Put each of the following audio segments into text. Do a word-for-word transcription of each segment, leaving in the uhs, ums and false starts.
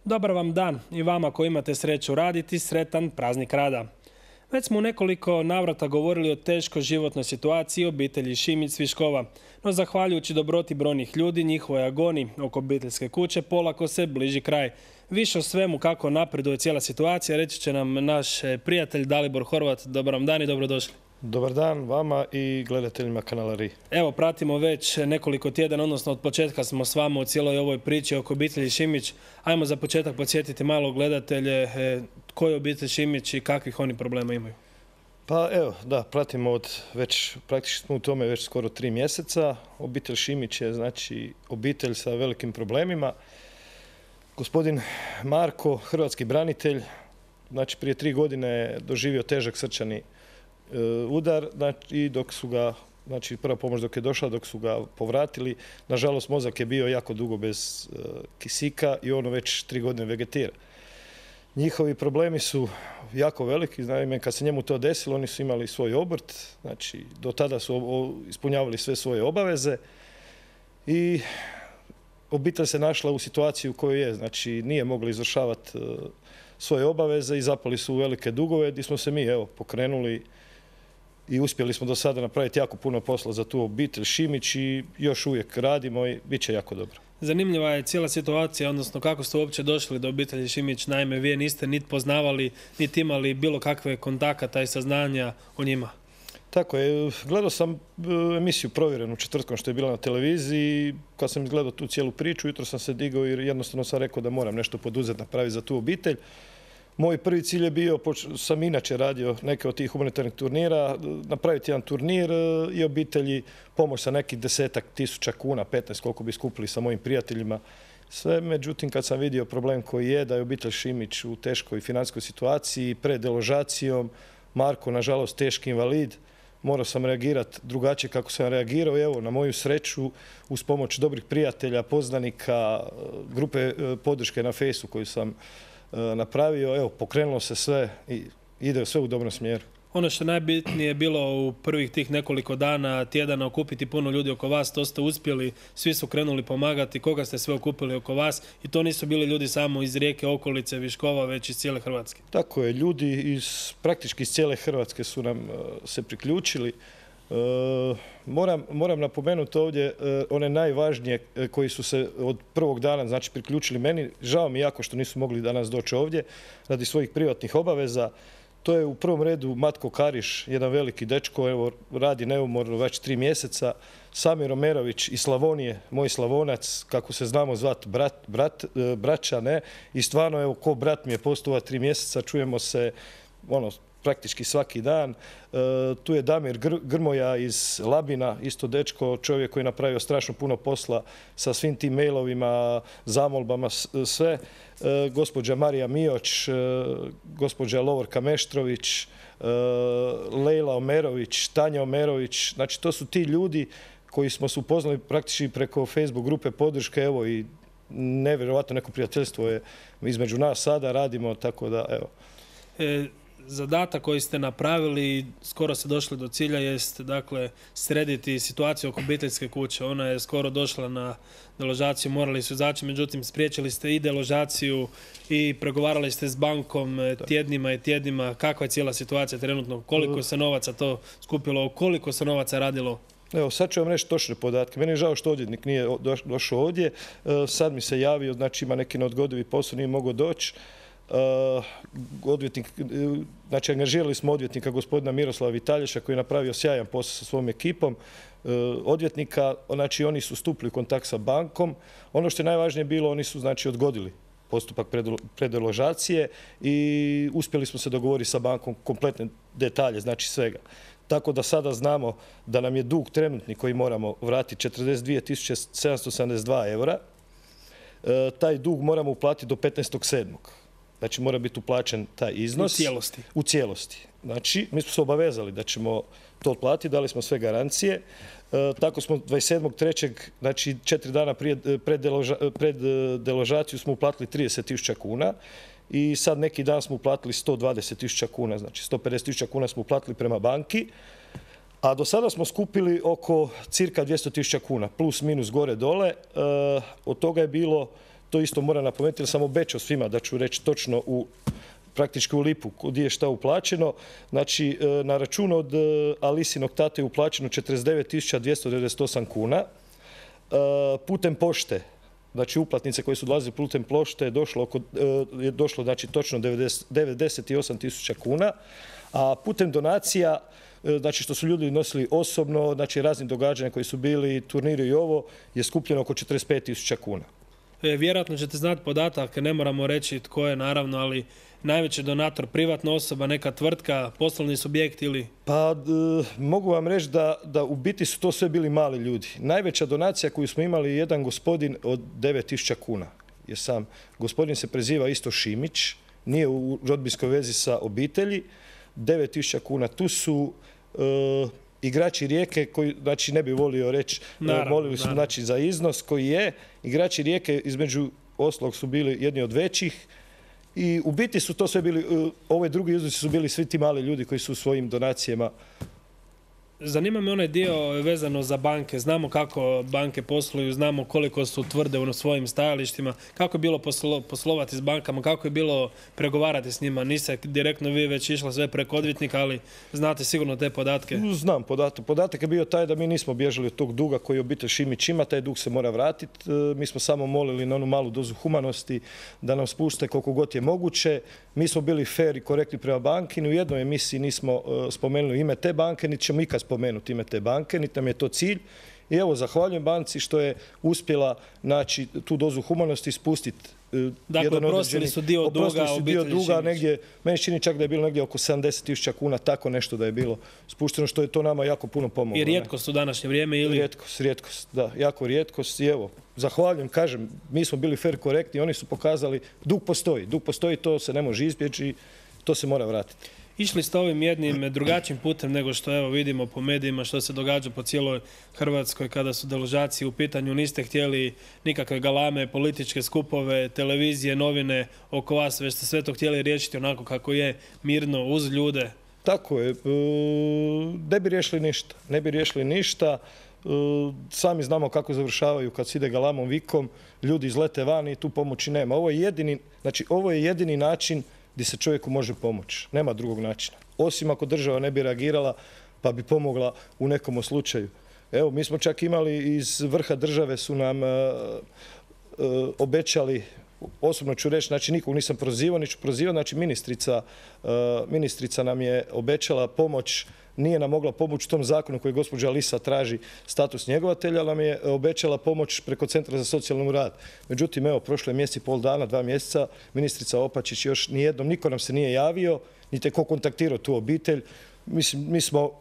Dobar vam dan i vama koji imate sreću raditi, sretan praznik rada. Već smo u nekoliko navrata govorili o teškoj životnoj situaciji obitelji Šimić-Cviškova, no zahvaljujući dobroti brojnih ljudi, njihovoj agoni oko obiteljske kuće polako se bliži kraj. Više o svemu kako napreduje cijela situacija reći će nam naš prijatelj Dalibor Horvat. Dobar vam dan i dobrodošli. Dobar dan vama i gledateljima kanala R I. Evo, pratimo već nekoliko tjedana, odnosno od početka smo s vama u cijeloj ovoj priči oko obitelji Šimić. Ajmo za početak podsjetiti malo gledatelje koji je obitelj Šimić i kakvih oni problema imaju. Pa evo, da, pratimo od već, praktički smo u tome već skoro tri mjeseca. Obitelj Šimić je znači obitelj sa velikim problemima. Gospodin Marko, hrvatski branitelj, znači prije tri godine je doživio težak srčani udar, znači, i dok su ga, znači prva pomoć dok je došla, dok su ga povratili, nažalost mozak je bio jako dugo bez uh, kisika i ono već tri godine vegetira. Njihovi problemi su jako veliki, naime kad se njemu to desilo, oni su imali svoj obrt, znači do tada su o, ispunjavali sve svoje obaveze i obitelj se našla u situaciji u kojoj je, znači nije mogla izvršavati uh, svoje obaveze i zapali su u velike dugove gdje smo se mi evo pokrenuli i uspjeli smo do sada napraviti jako puno posla za tu obitelj Šimić i još uvijek radimo i bit će jako dobro. Zanimljiva je cijela situacija, odnosno kako ste uopće došli do obitelji Šimić. Naime, vi niste niti poznavali, niti imali bilo kakve kontakata i saznanja o njima. Tako je. Gledao sam emisiju Provjerenu četvrtkom što je bila na televiziji. Kad sam izgledao tu cijelu priču, jutro sam se digao i jednostavno sam rekao da moram nešto poduzeti, napraviti za tu obitelj. Moj prvi cilj je bio, sam inače radio neke od tih humanitarnih turnira, napraviti jedan turnir i obitelji pomoć sa nekih desetak tisuća kuna, petnaest koliko bi skupili sa mojim prijateljima. Sve, međutim, kad sam vidio problem koji je, da je obitelj Šimić u teškoj financijskoj situaciji, pred deložacijom, Marko, nažalost, teški invalid, morao sam reagirati drugačije kako sam reagirao. Evo, na moju sreću, uz pomoć dobrih prijatelja, poznanika, grupe podrške na Fejsu koju sam napravio, evo, pokrenulo se sve i ide sve u dobrom smjeru. Ono što najbitnije je bilo u prvih tih nekoliko dana, tjedana okupiti puno ljudi oko vas, to ste uspjeli, svi su krenuli pomagati, koga ste sve okupili oko vas i to nisu bili ljudi samo iz Rijeke, okolice, Viškova, već iz cijele Hrvatske. Tako je, ljudi iz, praktički iz cijele Hrvatske su nam uh, se priključili. Uh, moram, moram napomenuti ovdje uh, one najvažnije uh, koji su se od prvog dana znači priključili meni. Žao mi jako što nisu mogli danas doći ovdje radi svojih privatnih obaveza. To je u prvom redu Matko Kariš, jedan veliki dečko, evo, radi neumorno već tri mjeseca. Samir Omerović iz Slavonije, moj Slavonac, kako se znamo zvat, brat, brat, braća, ne? I stvarno, evo, ko brat mi je postao tri mjeseca, čujemo se, ono, praktički svaki dan. E, tu je Damir Gr Grmoja iz Labina, isto dečko, čovjek koji je napravio strašno puno posla sa svim tim mailovima, zamolbama, sve. E, gospođa Marija Mioć, e, gospođa Lovorka Meštrović, e, Lejla Omerović, Tanja Omerović. Znači, to su ti ljudi koji smo se upoznali praktički preko Facebook grupe podrške, evo, i nevjerojatno neko prijateljstvo je između nas sada, radimo, tako da, evo. E Zadatak koji ste napravili i skoro ste došli do cilja jest, dakle, srediti situaciju oko obiteljske kuće. Ona je skoro došla na deložaciju, morali su izaći, međutim spriječili ste i deložaciju i pregovarali ste s bankom tjednima i tjednima. Kakva je cijela situacija trenutno? Koliko se novaca to skupilo? Koliko se novaca radilo? Evo, sad ću vam reći točne podatke. Meni je žao što odvjetnik nije došao ovdje. Sad mi se javio, znači ima neki neodgodivi posao, nije mogao doći. Uh, odvjetnik, znači angažirali smo odvjetnika gospodina Miroslava Vitalješa koji je napravio sjajan posao sa svom ekipom uh, odvjetnika, znači oni su stupili u kontakt sa bankom. Ono što je najvažnije bilo, oni su znači odgodili postupak predeložacije i uspjeli smo se dogovoriti sa bankom kompletne detalje, znači svega. Tako da sada znamo da nam je dug trenutni koji moramo vratiti četrdeset dvije tisuće sedamsto sedamdeset dva eura. Uh, taj dug moramo uplatiti do petnaestog sedmog Znači, mora biti uplaćen taj iznos. U cijelosti. U cijelosti. Znači, mi smo se obavezali da ćemo to otplatiti, dali smo sve garancije. E, tako smo dvadeset sedmog trećeg znači četiri dana prije, pred, deloža, pred deložaciju smo uplatili trideset tisuća kuna i sad neki dan smo uplatili sto dvadeset tisuća kuna, znači sto pedeset tisuća kuna smo uplatili prema banki. A do sada smo skupili oko cirka dvjesto tisuća kuna, plus minus gore dole. E, od toga je bilo to isto moram napomenuti jer sam obećao svima da ću reći točno u praktički u lipu gdje je šta uplaćeno. Znači, na račun od Alisinog tate je uplaćeno četrdeset devet tisuća dvjesto devedeset osam kuna. Putem pošte, znači uplatnice koje su dolazile putem pošte je došlo, oko, je došlo znači, točno devedeset osam tisuća kuna, a putem donacija, znači što su ljudi nosili osobno, znači razni događanja koji su bili, turniri i ovo, je skupljeno oko četrdeset pet tisuća kuna. E, vjerojatno ćete znati podatak, ne moramo reći tko je naravno, ali najveći donator privatna osoba, neka tvrtka, poslovni subjekt ili... Pa d, mogu vam reći da, da u biti su to sve bili mali ljudi. Najveća donacija koju smo imali je jedan gospodin od devet tisuća kuna. Jer sam, gospodin se preziva isto Šimić, nije u rodbinskoj vezi sa obitelji, devet tisuća kuna. Tu su e, igrači Rijeke koji, znači ne bi volio reći, naravno, molili su znači, za iznos koji je. Igrači Rijeke između ostalog su bili jedni od većih. I u biti su to sve bili, ove drugi iznosi su bili svi ti mali ljudi koji su u svojim donacijama. Zanima me onaj dio vezano za banke. Znamo kako banke posluju, znamo koliko su tvrde u svojim stajalištima. Kako je bilo poslo, poslovati s bankama, kako je bilo pregovarati s njima? Niste direktno vi već išla sve preko odvjetnika, ali znate sigurno te podatke. Znam podatak. Podatak je bio taj da mi nismo bježali od tog duga koji obitelj Šimić ima, taj dug se mora vratiti. Mi smo samo molili na onu malu dozu humanosti da nam spuste koliko god je moguće. Mi smo bili fair i korektni prema banki, ni u jednoj emisiji nismo spomenuli ime te banke, niti ćemo ikad spomenuti ime te banke, niti nam je to cilj. I evo, zahvaljujem banci što je uspjela naći tu dozu humanosti i spustiti. Dakle, oprostili su dio duga obitelji Šimić. Negdje, meni čini čak da je bilo negdje oko sedamdeset tisuća kuna, tako nešto da je bilo spušteno, što je to nama jako puno pomoglo. I rijetkost u današnje vrijeme ili? Rijetkost, rijetkost, da, jako rijetkost. I evo, zahvaljujem, kažem, mi smo bili fair korektni, oni su pokazali, dug postoji, dug postoji, to se ne može izbjeći, to se mora vratiti. Išli ste ovim jednim drugačijim putem nego što evo vidimo po medijima što se događa po cijeloj Hrvatskoj kada su deložacije u pitanju. Niste htjeli nikakve galame, političke skupove, televizije, novine oko vas, već ste sve to htjeli riješiti onako kako je, mirno, uz ljude. Tako je. Ne bi riješili ništa. Ne bi riješili ništa. Sami znamo kako završavaju kad se ide galamom, vikom, ljudi izlete van i tu pomoći nema. Ovo je jedini, znači, ovo je jedini način gdje se čovjeku može pomoći. Nema drugog načina. Osim ako država ne bi reagirala pa bi pomogla u nekom slučaju. Evo, mi smo čak imali iz vrha države su nam uh, uh, obećali, osobno ću reći, znači nikog nisam prozivao, niću prozivao, znači ministrica, uh, ministrica nam je obećala pomoć, nije nam mogla pomoći u tom zakonu koji gospođa Lisa traži status njegovatelja, ali nam je obećala pomoć preko Centra za socijalni rad. Međutim, evo, prošlo je mjesec i pol dana, dva mjeseca, ministrica Opačić još nijednom, niko nam se nije javio, niti ko kontaktirao tu obitelj. Mislim, mi smo,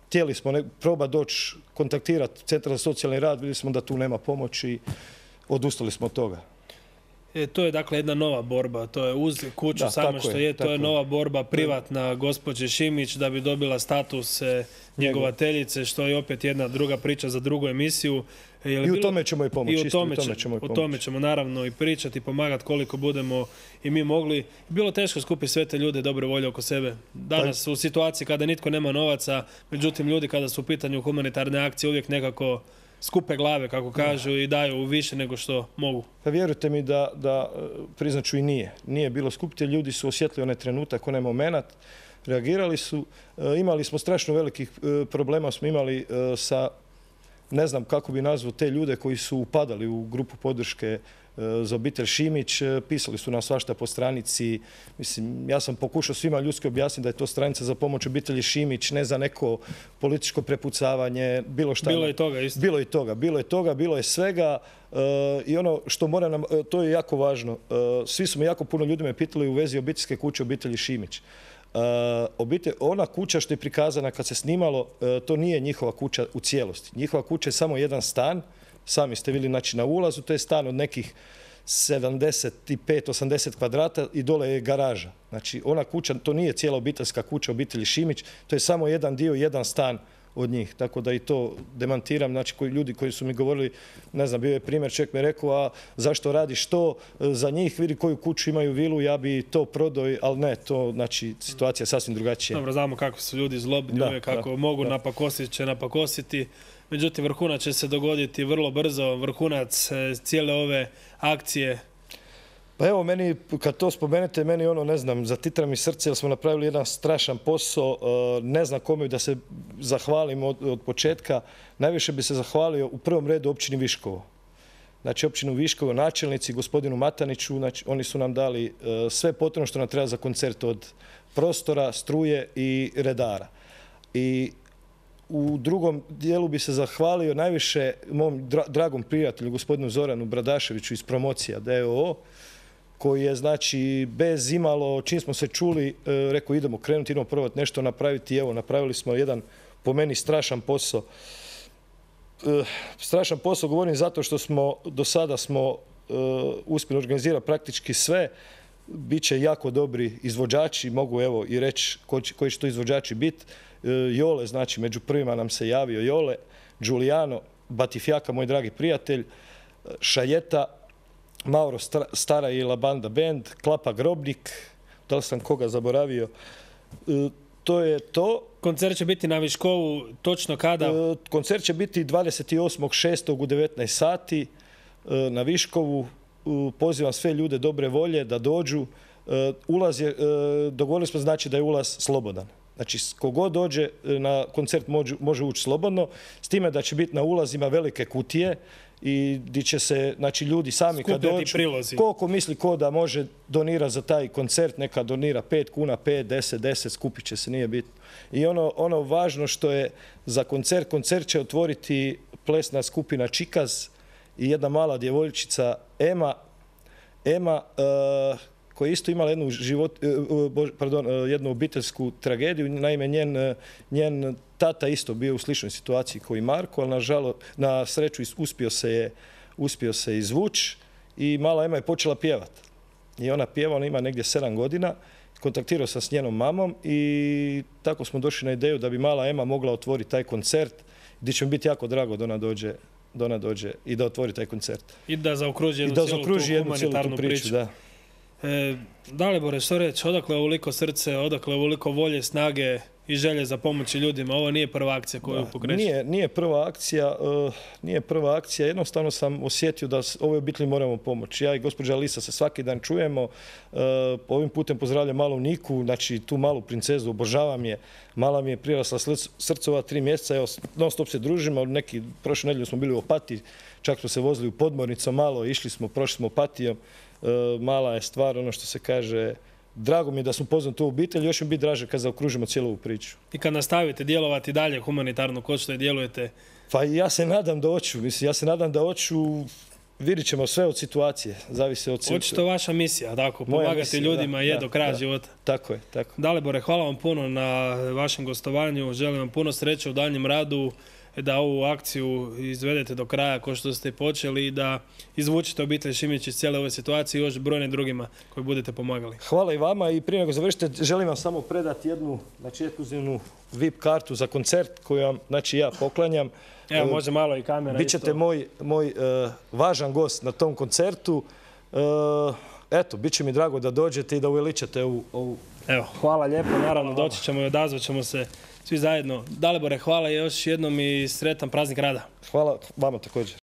htjeli smo ne, proba doći kontaktirati Centar za socijalni rad, vidjeli smo da tu nema pomoći i odustali smo od toga. E, to je dakle jedna nova borba, to je uz kuću da, samo što je, je to je nova borba privatna gospođe Šimić da bi dobila status e, njegovateljice, što je opet jedna druga priča za drugu emisiju. Je I u bilo, tome ćemo i pomoći. I u tome, isto, u tome ćemo, i pomoći. O tome ćemo naravno i pričati i pomagati koliko budemo i mi mogli. Bilo teško skupiti sve te ljude dobre volje oko sebe. Danas pa, u situaciji kada nitko nema novaca, međutim ljudi kada su u pitanju humanitarne akcije uvijek nekako skupe glave, kako kažu, i daju više nego što mogu. Pa vjerujte mi da, da priznaću i nije. Nije bilo skupiti, ljudi su osjetili onaj trenutak, onaj moment, reagirali su. Imali smo strašno velikih problema, smo imali sa, ne znam kako bi nazvao te ljude koji su upadali u grupu podrške za obitelj Šimić, pisali su nam svašta po stranici. Mislim, ja sam pokušao svima ljudski objasniti da je to stranica za pomoć obitelji Šimić, ne za neko političko prepucavanje, bilo šta. Bilo je toga isto. Bilo je toga, bilo je toga, bilo je svega. I ono što mora nam, to je jako važno. Svi su me jako puno ljudi me pitali u vezi obiteljske kuće obitelji Šimić. Obitelj, ona kuća što je prikazana kad se snimalo, to nije njihova kuća u cijelosti. Njihova kuća je samo jedan stan. Sami ste vidjeli, znači, na ulazu, to je stan od nekih sedamdeset pet do osamdeset kvadrata i dole je garaža. Znači, ona kuća, to nije cijela obiteljska kuća obitelji Šimić, to je samo jedan dio, jedan stan od njih. Tako da i to demantiram, znači, koji, ljudi koji su mi govorili, ne znam, bio je primjer, čovjek mi rekao, a zašto radiš to za njih, vidi koju kuću imaju vilu, ja bi to prodao, ali ne, to, znači, situacija je sasvim drugačija. Dobro, znamo kako su ljudi zlobni, da, kako da, mogu da. napakositi, će napakositi. međutim vrhunac će se dogoditi vrlo brzo, vrhunac e, cijele ove akcije. Pa evo, meni, kad to spomenete, meni ono, ne znam, zatitra mi srce jer smo napravili jedan strašan posao, ne znam kome da se zahvalim od, od početka. Najviše bi se zahvalio u prvom redu općini Viškovo. Znači, općinu Viškovo, načelnici, gospodinu Mataniću, znači, oni su nam dali sve potrebno što nam treba za koncert od prostora, struje i redara. I u drugom dijelu bi se zahvalio najviše mom dragom prijatelju, gospodinu Zoranu Bradaševiću iz Promocija D O O, koji je, znači, bez imalo, čim smo se čuli, rekao idemo krenuti, idemo probati nešto napraviti. Evo, napravili smo jedan, po meni, strašan posao. Strašan posao govorim zato što smo, do sada smo uspjeli organizirati praktički sve. Biće jako dobri izvođači, mogu evo i reći koji će to izvođači biti. Jole, znači, među prvima nam se javio Jole, Giuliano, Batifjaka, moj dragi prijatelj, Šajeta, Mauro Stara i La Banda Band, Klapa Grobnik, da li sam koga zaboravio. To je to. Koncert će biti na Viškovu, točno kada? Koncert će biti dvadeset osmog šestog u devetnaest sati na Viškovu. Pozivam sve ljude dobre volje da dođu. Ulaz je, dogovorili smo, znači, da je ulaz slobodan. Znači, kogod dođe na koncert može, može ući slobodno, s time da će biti na ulazima velike kutije i gdje će se, znači, ljudi sami kad dođu, koliko misli ko da može donirati za taj koncert, neka donira pet kuna, pet, deset, deset, skupit će se, nije bitno. I ono, ono važno što je za koncert, koncert će otvoriti plesna skupina Čikaz i jedna mala djevojčica Ema, Ema, uh, koja je isto imala jednu, život, pardon, jednu obiteljsku tragediju. Naime, njen, njen tata isto bio u sličnoj situaciji kao i Marko, ali nažalost, na sreću uspio se je, uspio se izvući i mala Ema je počela pjevati. I ona pjeva, ona ima negdje sedam godina. Kontaktirao sam s njenom mamom i tako smo došli na ideju da bi mala Ema mogla otvoriti taj koncert, gdje će mi biti jako drago da ona dođe, da ona dođe i da otvori taj koncert. I da zaokruži jednu cijelu tu humanitarnu priču. Da. E, Dalibore, što reći, odakle ovoliko srce, odakle ovoliko volje, snage i želje za pomoći ljudima? Ovo nije prva akcija koju pokreće. Nije, nije prva akcija, uh, nije prva akcija. Jednostavno sam osjetio da ovoj obitelji moramo pomoći. Ja i gospođa Lisa se svaki dan čujemo. Uh, ovim putem pozdravljam malu Niku, znači tu malu princezu, obožavam je. Mala mi je prirasla srcova tri mjeseca, evo, non stop se družimo. Neki, prošlu nedjelju smo bili u Opatiji, čak smo se vozili u Podmornicu malo, išli smo, prošli smo Opatijom. Uh, mala je stvar, ono što se kaže. Drago mi je da smo poznali tu obitelj, još mi biti draže kad zaokružimo cijelu ovu priču. I kad nastavite djelovati dalje humanitarno, ko što je djelujete? Pa ja se nadam da hoću, mislim, ja se nadam da hoću, vidit ćemo sve od situacije, zavisi od situacije. Očito vaša misija, tako, pomagati misija, ljudima da, je da, do kraja da, života. Tako je, tako. Dalibore, hvala vam puno na vašem gostovanju, želim vam puno sreće u daljnjem radu, da ovu akciju izvedete do kraja kao što ste počeli i da izvučete obitelj Šimić iz cijele ove situacije i još brojne drugima koji budete pomagali. Hvala i vama i prije nego završite želim vam samo predati jednu, znači, ekskluzivnu V I P kartu za koncert koju vam, znači, ja poklanjam. Evo, može malo i kamera. Bićete moj, moj uh, važan gost na tom koncertu. Uh, eto, bit će mi drago da dođete i da uveličate ovu... ovu... Evo, hvala lijepo, naravno doći ćemo i odazvat ćemo se svi zajedno. Dalibore, hvala još jednom i sretan praznik rada. Hvala vama također.